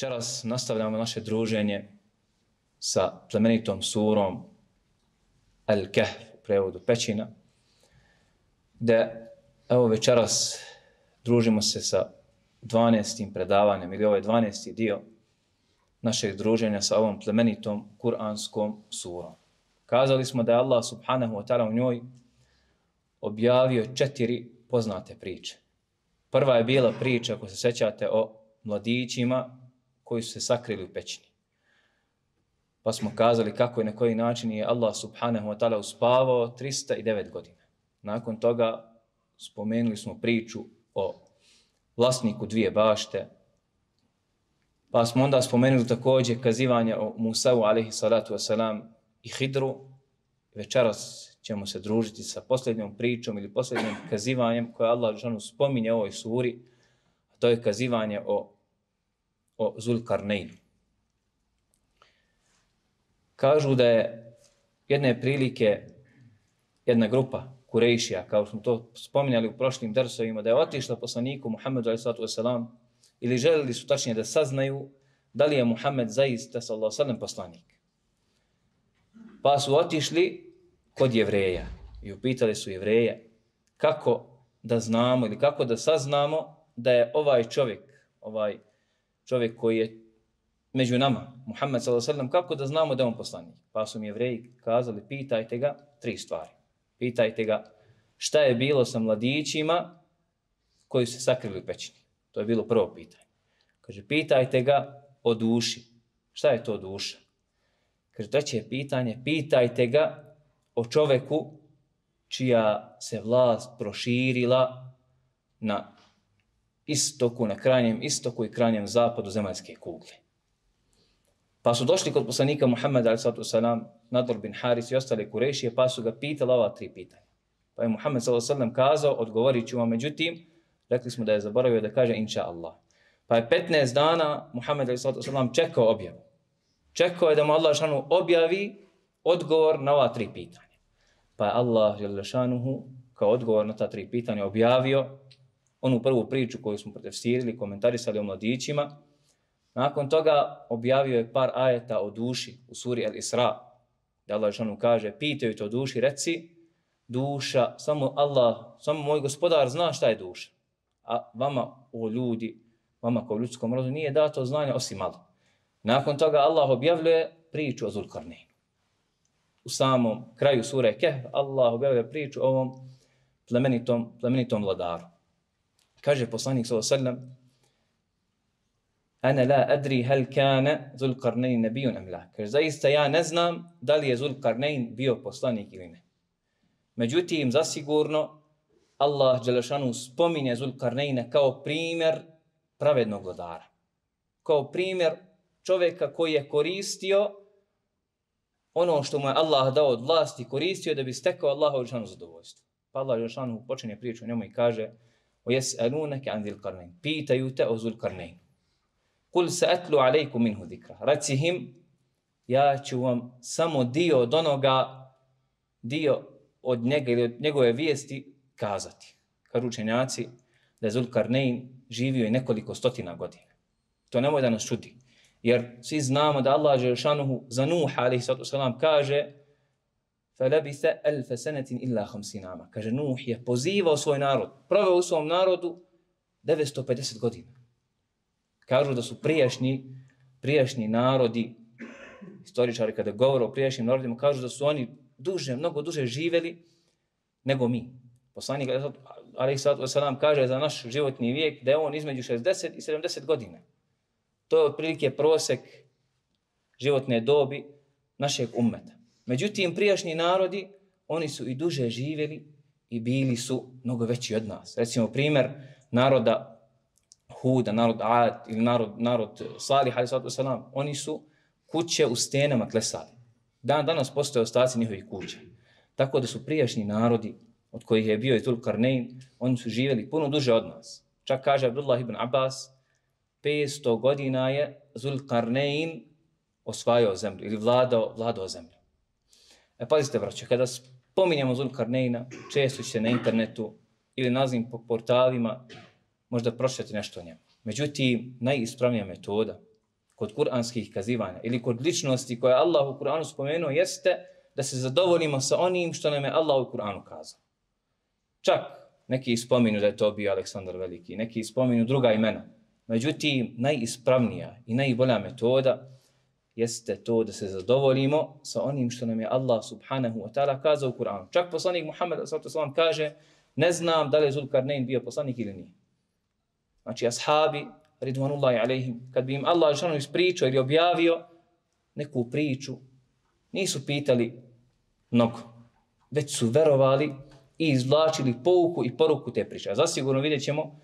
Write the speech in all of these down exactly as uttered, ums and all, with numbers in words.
Večeras nastavljamo naše druženje sa plemenitom surom Al-Kahf, u prevodu Pećina, gdje evo večeras družimo se sa dvanaestim predavanjem, ili ovaj dvanaesti dio našeg druženja sa ovom plemenitom kuranskom surom. Kazali smo da je Allah subhanahu wa ta'ala u njoj objavio četiri poznate priče. Prva je bila priča, ako se sjećate, o mladićima koji su se sakrili u pećini. Pa smo kazali kako i na koji način je Allah subhanahu wa ta'ala uspavao trista devet godina. Nakon toga spomenuli smo priču o vlasniku dvije bašte, pa smo onda spomenuli također kazivanje o Musa'u alaihi salatu wasalam i Hidru. Večeras ćemo se družiti sa posljednjom pričom ili posljednjim kazivanjem koje Allah džanu spominje u ovoj suri, a to je kazivanje o, o Zulkarneinu. Kažu da je jedne prilike jedna grupa Kurejšija, kao smo to spominjali u prošlim dersovima, da je otišla poslaniku Muhammedu alejhi salatu vesselam, ili želili su tačnije da saznaju da li je Muhammed zaista sallallahu alejhi ve sellem poslanik. Pa su otišli kod Jevreja i upitali su Jevreje kako da znamo ili kako da saznamo da je ovaj čovjek, ovaj čovjek koji je među nama, Muhammed sallallahu alejhi ve sellem, kako da znamo da je on poslanik. Pa su mi Jevreji kazali, pitajte ga tri stvari. Pitajte ga šta je bilo sa mladićima koji su se sakrili u pećini. To je bilo prvo pitanje. Kaže, pitajte ga o duši. Šta je to duša? Kaže, treće pitanje, pitajte ga o čoveku čija se vlast proširila na istoku, na krajnjem istoku i krajnjem zapadu zemaljske kugle. Pa su došli kod poslanika Muhammeda alejhi salatu vesselam, Nadr bin Haris i ostale Kurejšije, pa su ga pitali ova tri pitanja. Pa je Muhammed sallallahu alejhi ve sellem kazao, odgovorit ću vam, međutim, rekli smo da je zaboravio da kaže inša Allah. Pa je petnaest dana Muhammed alejhi salatu vesselam čekao objavu. Čekao je da mu Allah šanu objavi odgovor na ova tri pitanja. Pa je Allah šanuhu kao odgovor na ta tri pitanja objavio onu prvu priču koju smo protefsirili, komentarisali o mladićima. Nakon toga objavio je par ajeta o duši u suri Al-Isra, da Allah šanuhu kaže, pitaju te o duši, reci, duša, samo Allah, samo moj gospodar zna šta je duša. A vama, o ljudi, vama kao ljudskom rodu, nije dato znanje osim malo. Nakon toga Allah objavljuje priču o Zulkarneinu. U samom kraju sure Kehf Allah objavljuje priču o ovom plemenitom, plemenitom vladaru. Kaže poslanik sallallahu alejhi ve sellem, ana la adri hal kana Zulkarnein nabiyun am la. Kaže, zaista ja ne znam da li je Zulkarnein bio poslanik ili ne. Međutim, zasigurno Allah dželešanu spominje Zulkarneina kao primjer pravednog vladara. Kao primjer čovjeka koji je koristio ono što mu je Allah dao od vlasti, koristio da bi stekao Allahovu dželešanu zadovoljstvo. Pa Allah dželešanu počinje priču o njemu i kaže, وَيَسْأَلُونَكَ عَنْ ذِي الْقَرْنَيْنِ, pitaju te o Zulkarneinu. Kul sa'atlu alejkum minhu zikra. Reci im, ja ću vam samo dio od onoga, dio od njega ili od njegove vijesti kazati. Kažu učenjaci da je Zulkarnein živio i nekoliko stotina godina. To nemoj da nas čudi. Jer svi znamo da Allah dželešanu za Nuha alejhi salatu vesselam kaže فَلَبِثَ أَلْفَ سَنَةٍ إِلَّا خَمْسِينَ عَامًا. Kaže, Nuh je pozivao svoj narod, proveo u svom narodu devetsto pedeset godina. Kažu da su prijašnji, prijašnji narodi, historičari kada govore o prijašnjim narodima, kažu da su oni duže, mnogo duže živjeli nego mi. Poslanik alejhi salatu vesselam kaže za naš životni vijek da je on između šezdeset i sedamdeset godina. To je otprilike prosek životne dobi našeg ummeta. Međutim, prijašnji narodi, oni su i duže živjeli i bili su mnogo veći od nas. Recimo, primjer naroda Huda, narod Ad ili narod, narod Salih, alejhi salatu vesselam, oni su kuće u stenama klesali. Dan danas postoje ostaci njihovih kuća. Tako da su prijašnji narodi, od kojih je bio i Zulkarnein, oni su živjeli puno duže od nas. Čak kaže Abdullah ibn Abbas, petsto godina je Zulkarnein osvajao zemlju ili vladao, vladao zemlju. E, pazite, braće, kada spominjamo Zulkarneina, često će na internetu ili nazivim po portalima možda pročitati nešto o njemu. Međutim, najispravnija metoda kod kuranskih kazivanja ili kod ličnosti koje Allah u Kur'anu spomenuo jeste da se zadovoljimo sa onim što nam je Allah u Kur'anu kazao. Čak neki spominu da je to bio Aleksandar Veliki, neki spominu druga imena. Međutim, najispravnija i najbolja metoda jeste to da se zadovoljimo sa onim što nam je Allah subhanahu wa ta'ala kazao u Kur'anu. Čak poslanik Muhammed sallallahu alejhi ve sellem kaže, ne znam da li je Zulkarnein bio poslanik ili nije. Znači, ashabi, ridvanullahi alejhim, kad bi im Allah dželle ispričao ili objavio neku priču, nisu pitali mnogo, već su verovali i izvlačili pouku i poruku te priče. A zasigurno vidjet ćemo,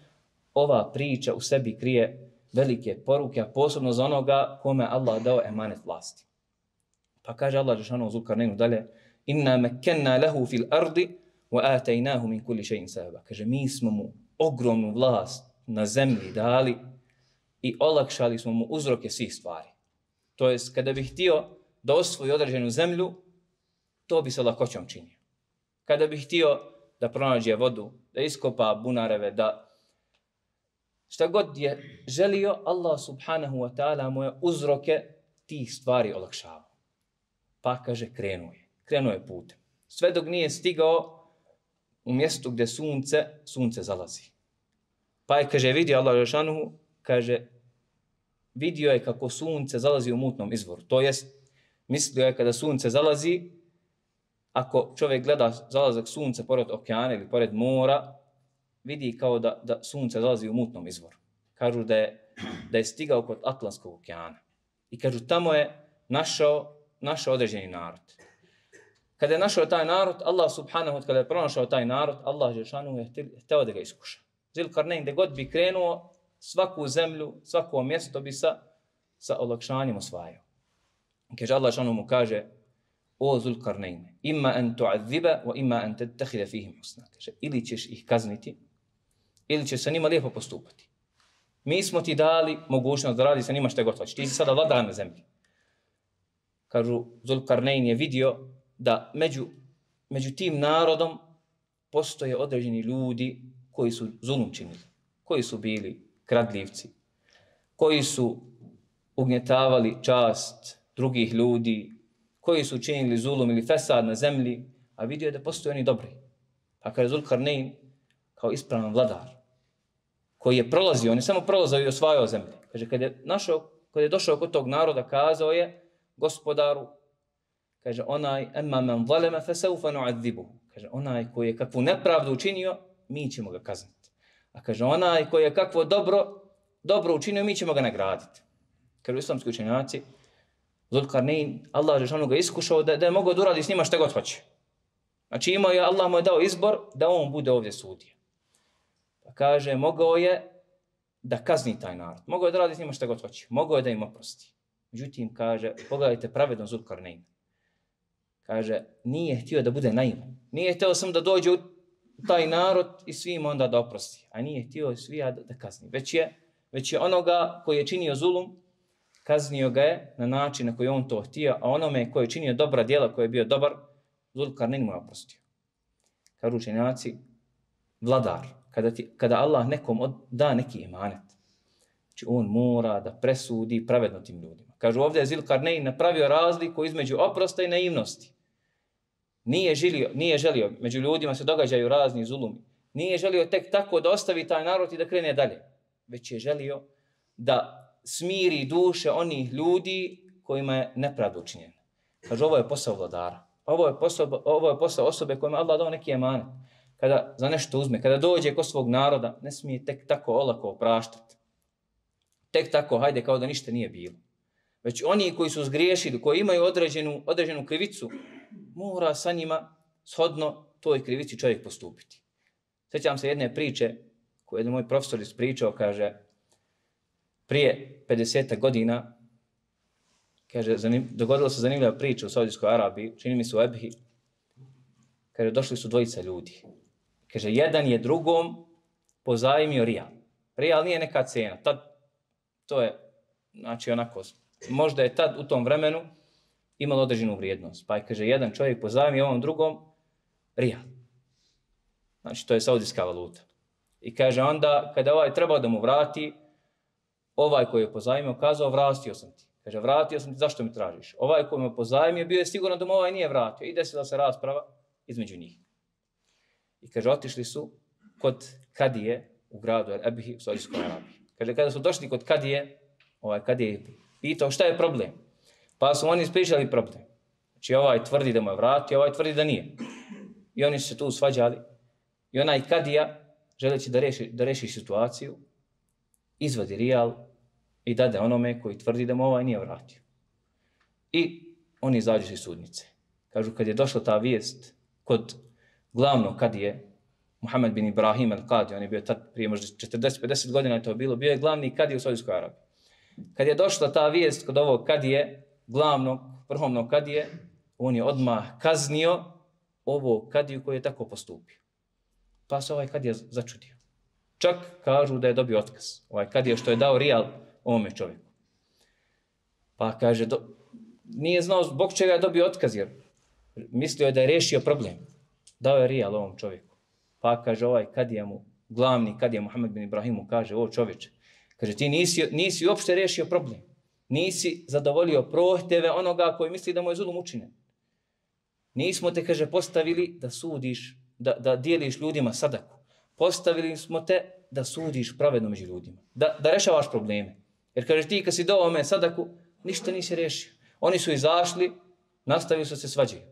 ova priča u sebi krije velike poruke, a posebno za onoga kome Allah dao emanet vlasti. Pa kaže Allah dželle Zulkarneinu dalje, inna mekkenna lehu fil ardi wa ataynahu min kulli shay'in sababa. Kaže, mi smo mu ogromnu vlast na zemlji dali i olakšali smo mu uzroke svih stvari. To jest, kada bi htio da osvoji određenu zemlju, to bi se lakoćom činio. Kada bi htio da pronađe vodu, da iskopa bunareve, da šta god je želio, Allah subhanahu wa ta'ala mu je uzroke tih stvari olakšavao. Pa kaže, krenuo je. Krenuo je putem. Sve dok nije stigao u mjestu gdje sunce, sunce zalazi. Pa je, kaže, vidio Allah Žešanuhu, kaže, vidio je kako sunce zalazi u mutnom izvoru. To jest, mislio je kada sunce zalazi, ako čovjek gleda zalazak sunca pored okeana ili pored mora, vidi kao da, da sunce zalazi u mutnom izvoru. Kažu da je, da je stigao kod Atlantskog okeana. I kažu, tamo je našao, našao određeni narod. Kada je našao taj narod, Allah subhanahu wa ta'ala, kada je pronašao taj narod, Allah Žešanu je hteo da ga iskuša. Zulkarnein, gdje god bi krenuo, svaku zemlju, svako mjesto bi sa, sa olakšanjem osvajao. Kaže, Allah Žešanu mu kaže, o Zulkarnein, ima an tu'adhiba, wa ima an tattakhida fihim husna. Kaže, ili ćeš ih kazniti, ili će sa njima lijepo postupati. Mi smo ti dali mogućnost da radi sa njima što god hoćeš. Ti si sada vladar na zemlji. Kažu, Zulkarnein je vidio da među, među tim narodom postoje određeni ljudi koji su zulum činili, koji su bili kradljivci, koji su ugnjetavali čast drugih ljudi, koji su činili zulum ili fesad na zemlji, a vidio je da postoje oni dobri. Pa kaže Zulkarnein, kao ispravan vladar, koji je prolazio, on je samo prolazio i osvajao zemlje. Kaže, kad je, našao, kad je došao kod tog naroda, kazao je gospodaru, kaže, onaj, emma man zalema fasawfa nu'adhibuhu. Kaže, onaj koji je kakvu nepravdu učinio, mi ćemo ga kazniti. A kaže, onaj koji je kakvo dobro, dobro učinio, mi ćemo ga nagraditi. Kažu islamski učenjaci, Zulkarnein, Allah Žešanu ga iskušao da, da je mogao da uradi s njima šta god hoće. Znači imao je, Allah mu je dao izbor da on bude ovdje sudija. Pa kaže, mogao je da kazni taj narod. Mogao je da radi s njima šta god hoće. Mogao je da im oprosti. Međutim, kaže, pogledajte pravedno Zulkarnein. Kaže, nije htio da bude naivan. Nije htio sam da dođe u taj narod i svim onda da oprosti. A nije htio svija da, da kazni. Već je, već je onoga koji je činio zulum, kaznio ga je na način na koji on to htio, a onome koji je činio dobra djela, koji je bio dobar, Zulkarnein mu je oprostio. Kažu učenjaci, vladar, kada, ti, kada Allah nekom od, da neki emanet, znači on mora da presudi pravedno tim ljudima. Kažu ovdje je Zulkarnein napravio razliku između oprosta i naivnosti. Nije želio, nije želio, među ljudima se događaju razni zulumi. Nije želio tek tako da ostavi taj narod i da krene dalje. Već je želio da smiri duše onih ljudi kojima je nepravda učinjena. Kaže, ovo je posao vladara. Ovo je posao, ovo je posao osobe kojima Allah dao neki emanet. Kada za nešto uzme, kada dođe kod svog naroda, ne smije tek tako olako opraštati. Tek tako, hajde, kao da ništa nije bilo. Već oni koji su zgriješili, koji imaju određenu, određenu krivicu, mora sa njima shodno toj krivici čovjek postupiti. Sjećam se jedne priče koju jedan moj profesor ispričao, kaže, prije pedeset godina, kaže, zanim, dogodila se zanimljiva priča u Saudijskoj Arabiji, čini mi se u Ebhi, kaže, došli su dvojica ljudi. Kaže, jedan je drugom pozajmio rijal. Rijal nije neka cena, tad, to je, znači onako, možda je tad u tom vremenu imalo određenu vrijednost. Pa je, kaže, jedan čovjek pozajmio ovom drugom rijal. Znači, to je saudijska valuta. I kaže, onda, kada ovaj trebao da mu vrati, ovaj koji je pozajmio kazao vratio sam ti. Kaže vratio sam ti, zašto mi tražiš? Ovaj koji me pozajmio bio je siguran da mu ovaj nije vratio i desila se rasprava između njih. I kaže otišli su kod Kadije u gradu El-Ebhi u Saudijskoj Arabiji. Kaže kada su došli kod Kadije, ovaj Kadije je pitao šta je problem? Pa su oni ispričali problem. Znači ovaj tvrdi da mu je vratio, ovaj tvrdi da nije. I oni su se tu svađali. I onaj Kadija, želeći da reši, da reši situaciju, izvadi rijal i dade onome koji tvrdi da mu ovaj nije vratio. I oni izađu iz sudnice. Kažu, kad je došla ta vijest kod glavnog Kadije, Muhammed bin Ibrahim al-Qadi, on je bio tad prije možda četrdeset pedeset godina je to bilo, bio je glavni Kadija u Saudijskoj Arabiji. Kad je došla ta vijest kod ovog Kadije, glavnog, vrhovnog Kadije, on je odmah kaznio ovog Kadiju koji je tako postupio. Pa se ovaj Kadija začudio. Čak kažu da je dobio otkaz. Ovaj Kadija što je dao rijal ovome čovjeku. Pa kaže, do, nije znao zbog čega je dobio otkaz, jer mislio je da je rešio problem. Dao je rijal ovom čovjeku. Pa kaže ovaj Kadija mu, glavni Kadija Muhammed bin Ibrahimu, kaže, o čovječe, kaže, ti nisi, nisi uopšte rešio problem. Nisi zadovoljio prohtjeve onoga koji misli da mu je zulum učinjen. Nismo te, kaže, postavili da sudiš, da, da dijeliš ljudima sadaku. Postavili smo te da sudiš pravedno među ljudima. Da, da rešavaš probleme. Jer kaže, ti kad si dao ome sadaku, ništa nisi rešio. Oni su izašli, nastavili su se svađaju.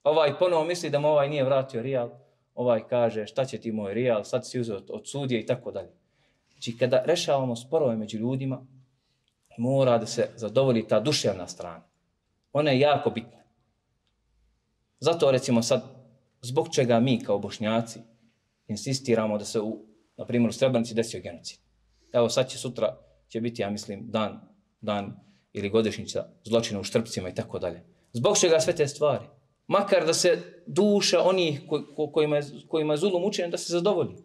Ovaj ponovo misli da mu ovaj nije vratio rijal. Ovaj kaže, šta će ti moj rijal, sad si uzeo od, od sudije i tako dalje. Znači, kada rešavamo sporove među ljudima, mora da se zadovolji ta duševna strana. Ona je jako bitna. Zato, recimo sad, zbog čega mi kao Bošnjaci insistiramo da se u, na primjer, u Srebrenici desio genocid. Evo sad će sutra, će biti, ja mislim, dan, dan ili godišnjica zločina u Štrpcima i tako dalje. Zbog čega sve te stvari? Makar da se duša onih ko, ko, kojima, je, kojima je zulum učinjen, da se zadovolji.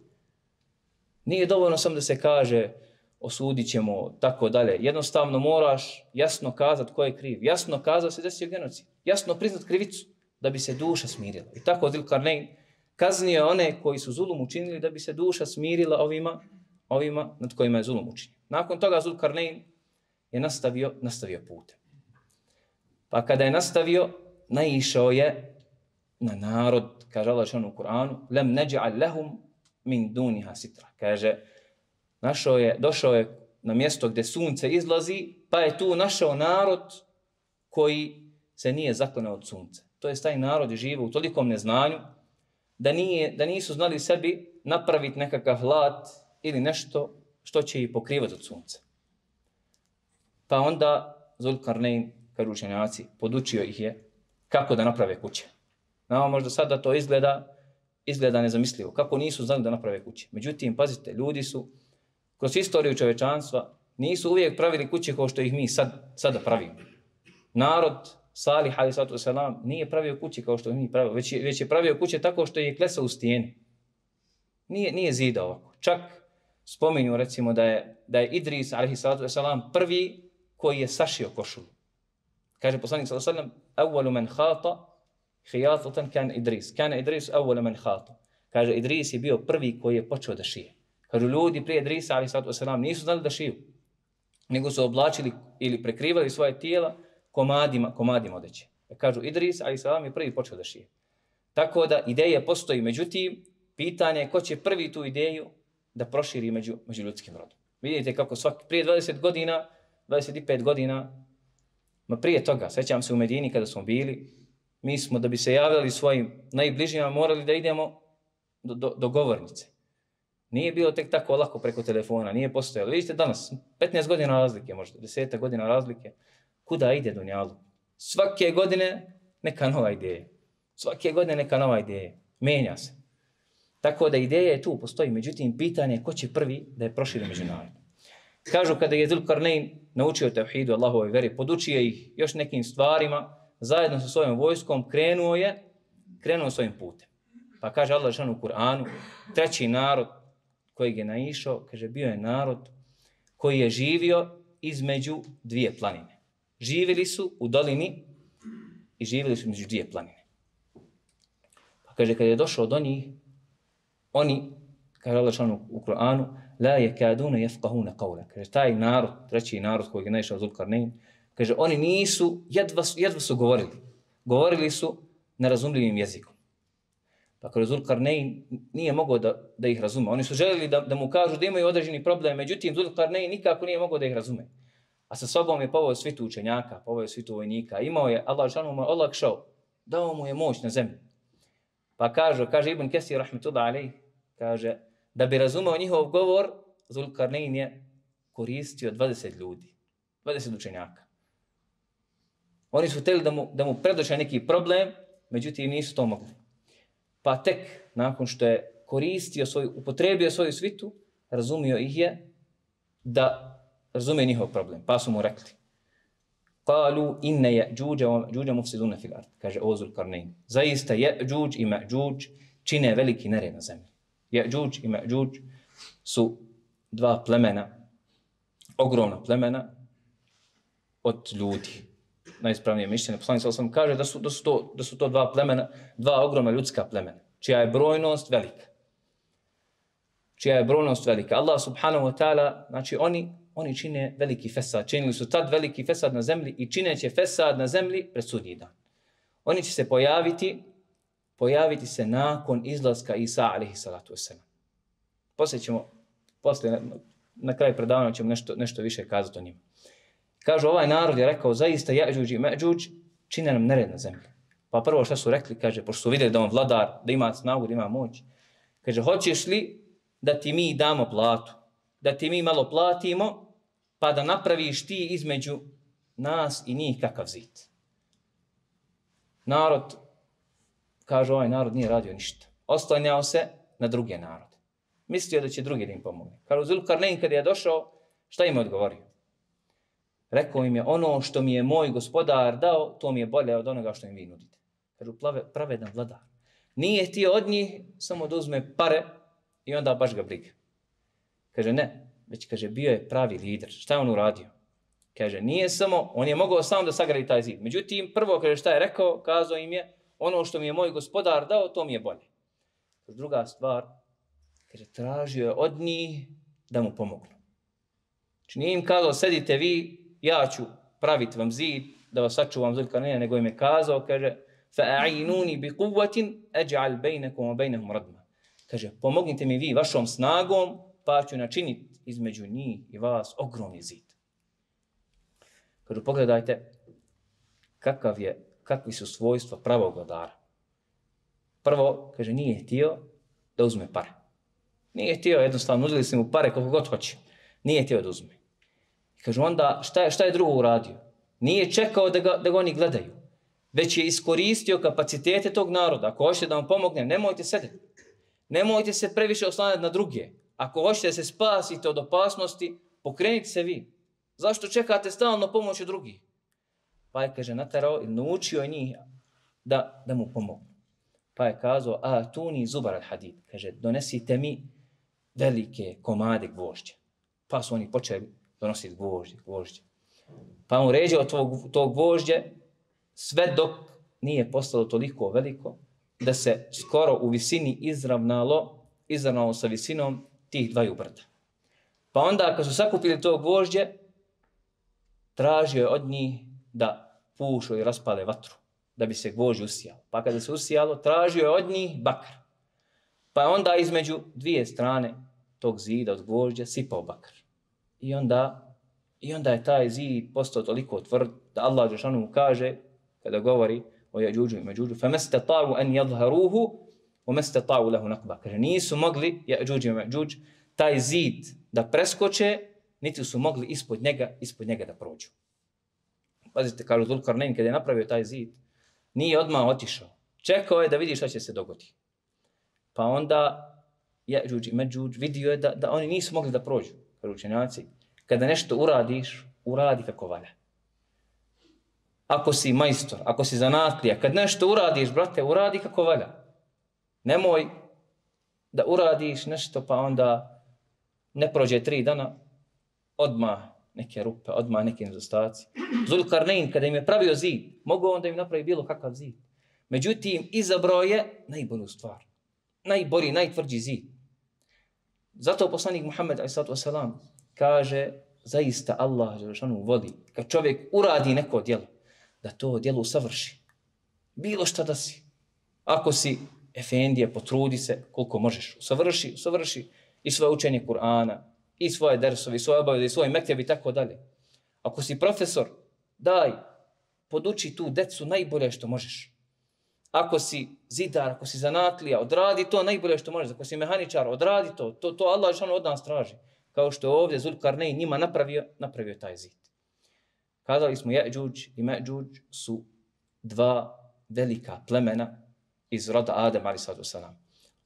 Nije dovoljno samo da se kaže osudit ćemo, tako dalje. Jednostavno moraš jasno kazati ko je kriv. Jasno kazati da se desio genocid. Jasno priznat krivicu da bi se duša smirila. I tako Zilkarnein kaznio one koji su zulum učinili da bi se duša smirila ovima, ovima nad kojima je zulum učinjen. Nakon toga Zilkarnein je nastavio, nastavio putem. Pa kada je nastavio, naišao je na narod, kaže Allah šanu u Kur'anu, lem neđa'al lehum min duniha sitra. Kaže, našao je, došao je na mjesto gdje sunce izlazi, pa je tu našao narod koji se nije zaklanao od sunca. To je taj narod živo u tolikom neznanju da, nije, da nisu znali sebi napraviti nekakav hlad ili nešto što će ih pokrivati od sunca. Pa onda Zulkarnein, kažu učenjaci, podučio ih je kako da naprave kuće. Nama možda sada to izgleda, izgleda nezamislivo. Kako nisu znali da naprave kuće. Međutim, pazite, ljudi su kroz istoriju čovečanstva nisu uvijek pravili kuće kao što ih mi sad, sada pravimo. Narod Salih alejhi salatu vesselam nije pravio kuće kao što ih mi pravimo, već je, već je pravio kuće tako što je klesao u stijeni. Nije, nije zidao ovako. Čak spominju recimo da je, da je Idris alejhi salatu vesselam prvi koji je sašio košulju. Kaže poslanik sallallahu alejhi ve sellem: "Awwalu man khata khiyatatan kan Idris." Kana Idris awwalu man khata. Kaže Idris je bio prvi koji je počeo da šije. Kažu ljudi prije Idrisa alejhi salatu vesselam nisu znali da šiju, nego su oblačili ili prekrivali svoje tijela komadima, komadima odeće. Kažu Idris alejhi salam je prvi počeo da šije. Tako da ideja postoji, međutim pitanje je ko će prvi tu ideju da proširi među, među ljudskim rodom. Vidite kako svaki prije dvadeset godina, dvadeset pet godina, ma prije toga, sećam se u Medini kada smo bili, mi smo da bi se javljali svojim najbližima morali da idemo do, do, do govornice. Nije bilo tek tako lako preko telefona, nije postojalo. Vidite danas, petnaest godina razlike, možda deset godina razlike, kuda ide dunjalu? Svake godine neka nova ideja. Svake godine neka nova ideja. Menja se. Tako da ideja je tu, postoji. Međutim, pitanje je ko će prvi da je proširi među narod. Kažu kada je Zulkarnein naučio tevhidu Allahovoj veri, podučio ih još nekim stvarima, zajedno sa svojom vojskom krenuo je, krenuo svojim putem. Pa kaže Allah dželle u Kur'anu, treći narod kojeg je naišao, kaže bio je narod koji je živio između dvije planine. Živjeli su u dolini i živjeli su među dvije planine. Pa kaže, kad je došao do njih, oni kaže Allah šanu u Kur'anu, la yakaduna yafqahuna qawla. Kaže, taj narod, treći narod kojeg je naišao Zulkarnein, kaže, oni nisu, jedva, jedva su govorili. Govorili su nerazumljivim jezikom. Pa kaže, Zulkarnein nije mogao da, da ih razume. Oni su željeli da, da mu kažu da imaju određeni problem, međutim, Zulkarnein nikako nije mogao da ih razume. A sa sobom je poveo svitu učenjaka, poveo svitu vojnika. Imao je, Allah šanu mu je olakšao, dao mu je moć na zemlji. Pa kaže, kaže Ibn Kesir, rahmetullah alejh, kaže, da bi razumeo njihov govor, Zulkarnein je koristio dvadeset ljudi, dvadeset učenjaka. Oni su htjeli da mu, da mu predoče neki problem, međutim nisu to mogli. Pa tek nakon što je koristio svoju, upotrebio svoju svitu, razumio ih je da razumije njihov problem. Pa su mu rekli, Kalu inne Ya'juđa wa Ma'juđa mufsiduna fil ard. Kaže o Zulkarnein. Zaista Ya'juđ i Ma'juđ čine veliki nered na zemlji. Ya'juđ i Ma'juđ su dva plemena, ogromna plemena od ljudi. Najispravnije mišljenje. Poslanik sallallahu alejhi ve sellem kaže da su, da, su to, da su to dva plemena, dva ogromna ljudska plemena, čija je brojnost velika. Čija je brojnost velika. Allah subhanahu wa ta'ala, znači oni Oni čine veliki fesad. Činili su tad veliki fesad na zemlji i čineće fesad na zemlji pred sudnji dan. Oni će se pojaviti, pojaviti se nakon izlaska Isa alejhi salatu vesselam. Poslije ćemo, poslije, na, na kraju predavanja ćemo nešto, nešto više kazati o njima. Kažu, ovaj narod je rekao, zaista Ya'juđ i Ma'juđ čine nam nered na zemlji. Pa prvo što su rekli, kaže, pošto su vidjeli da on vladar, da ima snagu, da ima moć, kaže, hoćeš li da ti mi damo platu? Da ti mi malo platimo, pa da napraviš ti između nas i njih kakav zid. Narod, kaže ovaj narod nije radio ništa. Oslanjao se na druge narode. Mislio da će drugi da im pomogne. Kaže Zulkarnein kada je došao, šta im je odgovorio? Rekao im je, ono što mi je moj gospodar dao, to mi je bolje od onoga što im vi nudite. Kažu, pravedan vladar. Nije htio od njih samo da uzme pare i onda baš ga briga. Kaže, ne, već kaže, bio je pravi lider. Šta je on uradio? Kaže, nije samo, on je mogao samo da sagradi taj zid. Međutim, prvo, kaže, šta je rekao, kazao im je, ono što mi je moj gospodar dao, to mi je bolje. Druga stvar, kaže, tražio je od njih da mu pomognu. Znači, nije im kazao, sedite vi, ja ću praviti vam zid, da vas sačuvam Zulkarneina, nego im je kazao, kaže, fa'ainuni bi quwwatin aj'al bainakum wa bainahum radma. Kaže, pomognite mi vi vašom snagom, pa ću načiniti između njih i vas ogromni zid. Kažu, pogledajte kakav je, kakvi su svojstva pravog vladara. Prvo, kaže, nije htio da uzme pare. Nije htio, jednostavno, nudili su mu pare koliko god hoće. Nije htio da uzme. Kaže, onda, šta je, šta je drugo uradio? Nije čekao da ga, da ga oni gledaju, već je iskoristio kapacitete tog naroda. Ako hoćete da vam pomognem, nemojte sedeti. Nemojte se previše oslanjati na druge. Ako hoćete da se spasite od opasnosti, pokrenite se vi. Zašto čekate stalno pomoć od drugih? Pa je, kaže, naterao i naučio njih da, da mu pomognu. Pa je kazao, a tuni zubar al hadid. Kaže, donesite mi velike komade gvožđa. Pa su oni počeli donositi gvožđe, gvožđe. Pa on ređao tog, tog gvožđe sve dok nije postalo toliko veliko da se skoro u visini izravnalo, izravnalo sa visinom tih dvaju brda. Pa onda, kad su sakupili to gvožđe, tražio je od njih da pušu i raspale vatru, da bi se gvožđe usijalo. Pa kada se usijalo, tražio je od njih bakar. Pa onda između dvije strane tog zida od gvožđa sipao bakar. I onda, i onda je taj zid postao toliko tvrd da Allah dželešanu mu kaže, kada govori o Ya'juđu i Ma'juđu, فَمَسْتَطَاعُوا أَنْ يَظْهَرُوهُ وَمَسْتَطَاعُوا لَهُ نَقْبًا. Kaže, nisu mogli Ya'juđ i Ma'juđ taj zid da preskoče, niti su mogli ispod njega, ispod njega da prođu. Pazite, kažu Zulkarnein, kada je napravio taj zid, nije odmah otišao. Čekao je da vidi šta će se dogoditi. Pa onda Ya'juđ i Ma'juđ vidio je da, da oni nisu mogli da prođu. Kažu učenjaci, kada nešto uradiš, uradi kako valja. Ako si majstor, ako si zanatlija, kad nešto uradiš, brate, uradi kako valja. Nemoj da uradiš nešto pa onda ne prođe tri dana, odmah neke rupe, odmah neke nedostaci. Zulkarnein, kada im je pravio zid, mogao on da im napravi bilo kakav zid. Međutim, izabrao je najbolju stvar. Najbolji, najtvrđi zid. Zato poslanik Muhammed alejhi salatu vesselam kaže zaista Allah dželešanu voli kad čovjek uradi neko djelo da to djelo savrši. Bilo šta da si. Ako si efendije, potrudi se koliko možeš. Savrši, savrši i svoje učenje Kur'ana, i svoje dersovi, i svoje obaveze, i svoj mekteb i tako dalje. Ako si profesor, daj, poduči tu decu najbolje što možeš. Ako si zidar, ako si zanatlija, odradi to najbolje što možeš. Ako si mehaničar, odradi to. To, to Allah dželešanu od nas traži. Kao što je ovdje Zulkarnein njima napravio, napravio taj zid. Kazali smo Je'đuđ i Me'đuđ su dva velika plemena iz roda Adem alejhi salatu vesselam.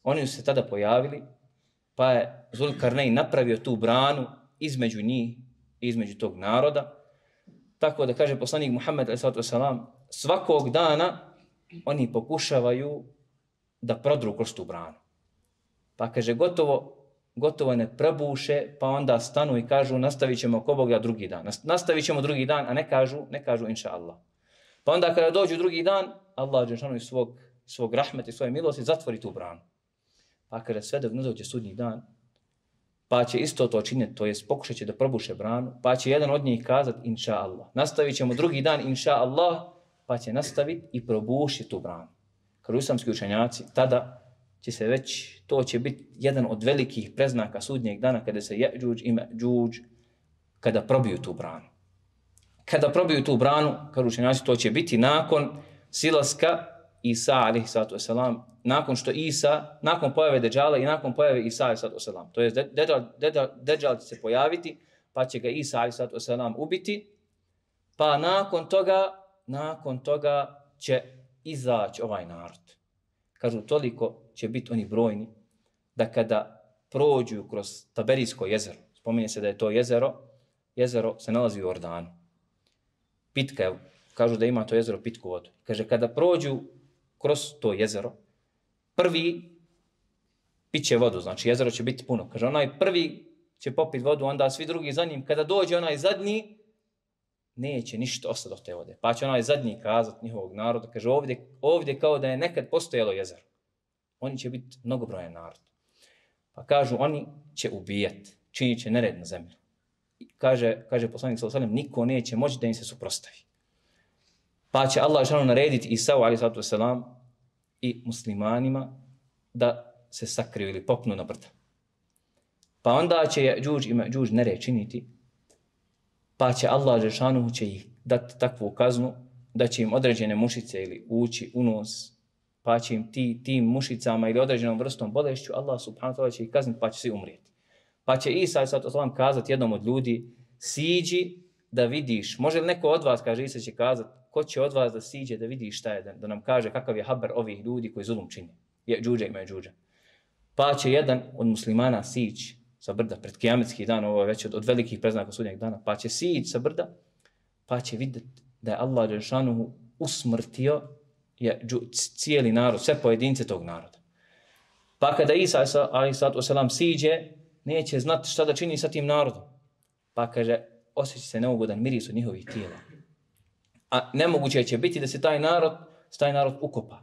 Oni su se tada pojavili, pa je Zulkarnein napravio tu branu između njih i između tog naroda. Tako da kaže poslanik Muhammed alejhi salatu vesselam, svakog dana oni pokušavaju da prodru kroz tu branu. Pa kaže gotovo gotovo ne probuše, pa onda stanu i kažu nastavit ćemo ko Boga drugi dan. Nastavit ćemo drugi dan, a ne kažu, ne kažu inša Allah. Pa onda kada dođu drugi dan, Allah dželešanu iz svog, svog rahmeta i svoje milosti zatvori tu branu. Pa kada sve dok ne dođe sudnji dan, pa će isto to činiti, to jest pokušat će da probuše branu, pa će jedan od njih kazati inša Allah. Nastavit ćemo drugi dan inša Allah, pa će nastaviti i probušiti tu branu. Kao islamski učenjaci, tada će se već, to će biti jedan od velikih preznaka sudnjeg dana kada se Je'đuđ i Me'đuđ, kada probiju tu branu. Kada probiju tu branu, kao učenjaci, to će biti nakon silaska Isa alejhi salatu vesselam, nakon što Isa, nakon pojave Deđala i nakon pojave Isa alejhi salatu vesselam. To je Deđal će se pojaviti, pa će ga Isa alejhi salatu vesselam ubiti, pa nakon toga, nakon toga će izaći ovaj narod. Kažu, toliko će biti oni brojni, da kada prođu kroz Taberijsko jezero, spominje se da je to jezero, jezero se nalazi u Jordanu. Pitka je, kažu da ima to jezero pitku vodu. Kaže, kada prođu kroz to jezero, prvi piće vodu, znači jezero će biti puno. Kaže, onaj prvi će popiti vodu, onda svi drugi za njim. Kada dođe onaj zadnji, neće ništa ostati od te vode. Pa će onaj zadnji kazat njihovog naroda, kaže, ovdje, ovdje kao da je nekad postojalo jezero. Oni će biti mnogobrojan narod. Pa kažu, oni će ubijati, činit će nered na zemlju. Kaže, kaže poslanik sallallahu alejhi ve sellem, niko neće moći da im se suprotstavi. Pa će Allah dželle narediti Isau alejhi salatu vesselam i muslimanima da se sakriju ili popnu na brda. Pa onda će Je'đuđ i Me'đuđ nered činiti, pa će Allah dželle će ih dati takvu kaznu da će im određene mušice ili ući u nos, pa će im ti, tim mušicama ili određenom vrstom bolešću Allah subhanahu wa ta'ala će ih kazniti, pa će svi umrijeti. Pa će Isa alejhi salatu vesselam kazati jednom od ljudi, siđi da vidiš, može li neko od vas, kaže Isa će kazati, ko će od vas da siđe da vidi šta je, da, da nam kaže kakav je haber ovih ljudi koji zulum čine, Je'đuđa i Me'đuđa. Pa će jedan od muslimana sići sa brda pred kijametski dan, ovo je već od, od velikih preznaka sudnjeg dana, pa će sići sa brda, pa će vidjeti da je Allah dželešanu usmrtio je cijeli narod, sve pojedince tog naroda. Pa kada Isa alejhi salatu vesselam siđe, neće znati šta da čini sa tim narodom. Pa kaže, osjeća se neugodan miris od njihovih tijela. A nemoguće će biti da se taj narod, taj narod ukopa.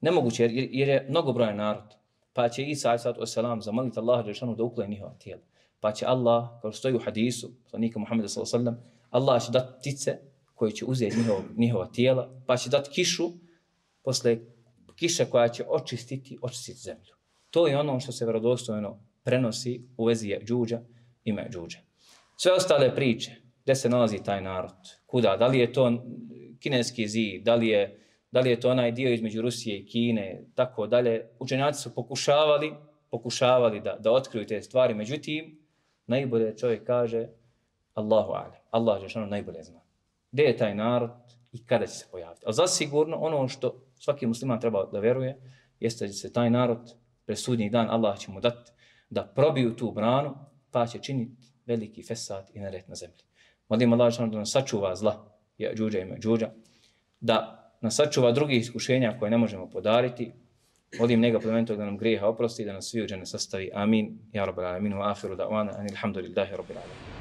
Nemoguće jer, jer je mnogobrojan narod. Pa će Isa alejhi salatu vesselam zamoliti Allaha dželešanu da ukloni njihova tijela. Pa će Allah, kao što stoji u hadisu, poslanika Muhammeda sallallahu alejhi ve sellem, Allah će dati ptice koje će uzeti njihov, njihova tijela, pa će dati kišu, posle kiša koja će očistiti, očistiti zemlju. To je ono što se vjerodostojno prenosi u vezi Je'đuđa i Me'đuđa. Sve ostale priče, gdje se nalazi taj narod, kuda, da li je to kineski zid, da li je, da li je to onaj dio između Rusije i Kine, tako dalje. Učenjaci su pokušavali, pokušavali da, da otkriju te stvari, međutim, najbolje čovjek kaže Allahu a'lam, Allah dželešanu najbolje zna. Gdje je taj narod i kada će se pojaviti. Ali zasigurno ono što svaki musliman treba da veruje, jeste da će se taj narod pred sudnji dan Allah će mu dati da probiju tu branu, pa će činiti veliki fesad i nered na zemlji. Molim Allah da nas sačuva zla Je'đuđa i Me'đuđa, da nas sačuva drugih iskušenja koje ne možemo podariti. Molim njega plemenitog da nam grijeha oprosti, da nas svi u džene sastavi. Amin. Ja rabbal alamin wa ahiru da'wana anil hamdulillahi rabbil alamin.